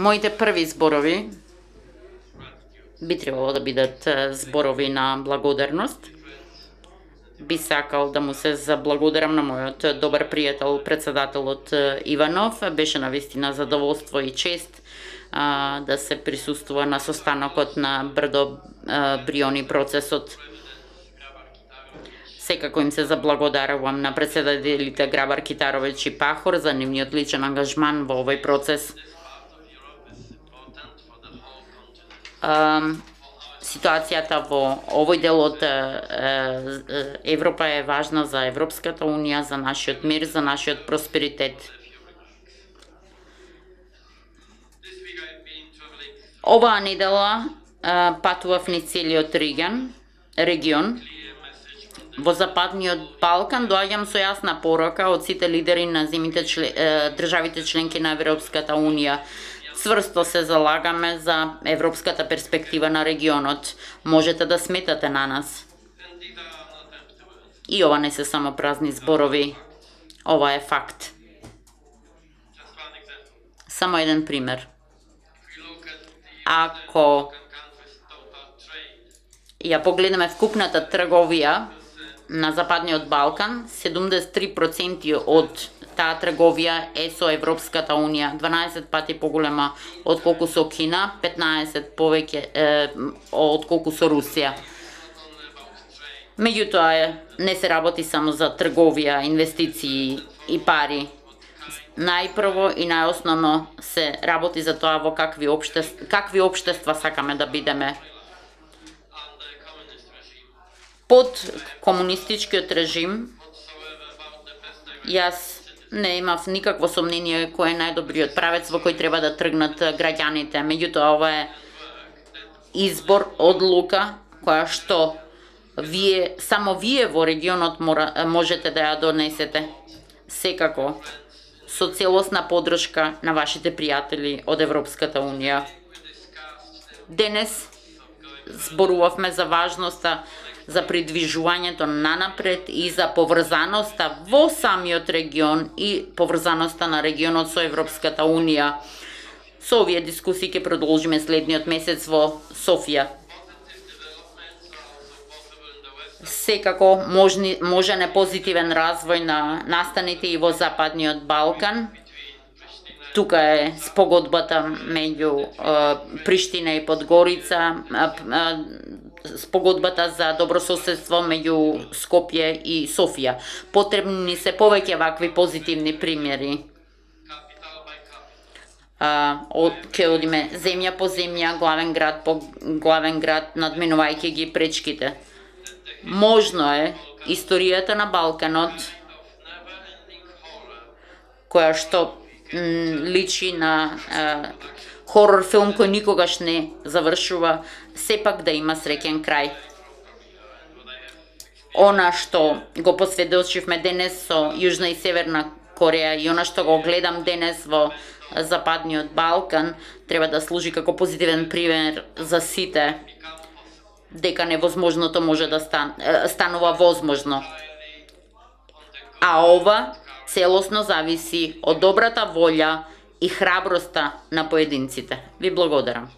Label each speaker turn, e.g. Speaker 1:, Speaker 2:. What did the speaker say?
Speaker 1: Моите први зборови би требало да бидат зборови на благодарност. Би сакал да му се заблагодарам на мојот добар пријател, председателот Иванов. Беше навистина задоволство и чест да се присуствува на состанокот на Брдо Бриони процесот. Секако им се заблагодарувам на председателите Грабар Китаровиќ и Пахор за нивниот личен ангажман во овој процес. Ситуацијата во овој дел од Европа е важна за Европската Унија, за нашиот мир, за нашиот просперитет. Оваа недела патував низ целиот регион. Во Западниот Балкан доаѓам со јасна порока од сите лидери на државите членки на Европската Унија. Цврсто се залагаме за европската перспектива на регионот. Можете да сметате на нас. И ова не се само празни зборови. Ова е факт. Само еден пример. Ако ја погледнеме вкупната трговија на Западниот Балкан, 73% од таа трговија е со Европската Унија, 12 пати поголема отколку со Кина, 15 повеќе отколку со Русија. Меѓутоа, не се работи само за трговија, инвестиции и пари. Најпрво и најосновно се работи за тоа во какви општества сакаме да бидеме. Под комунистичкиот режим, јас не имав никакво сомнение кој е најдобриот правец во кој треба да тргнат граѓаните. Меѓутоа, ова е избор, одлука, која што само вие во регионот можете да ја донесете. Секако, со целосна поддршка на вашите пријатели од Европската Унија. Денес зборувавме за важноста за придвижувањето нанапред и за поврзаноста во самиот регион и поврзаноста на регионот со Европската Унија. Со овие дискусии ќе продолжиме следниот месец во Софија. Секако можен е позитивен развој на настаните и во Западниот Балкан. Тука е спогодбата меѓу Приштина и Подгорица, спогодбата за добрососедство меѓу Скопје и Софија. Потребни ни се повеќе вакви позитивни примери. Ќе одиме земја по земја, главен град по главен град, надминувајќи ги пречките. Можно е историјата на Балканот, која што личи на хорор филм кој никогаш не завршува, сепак да има среќен крај. Она што го посведочивме денес со Јужна и Северна Кореја и она што го гледам денес во Западниот Балкан, треба да служи како позитивен пример за сите, дека невозможното може да станува возможно. А ова целосно зависи од добрата волја и храброста на поединците. Ви благодарам.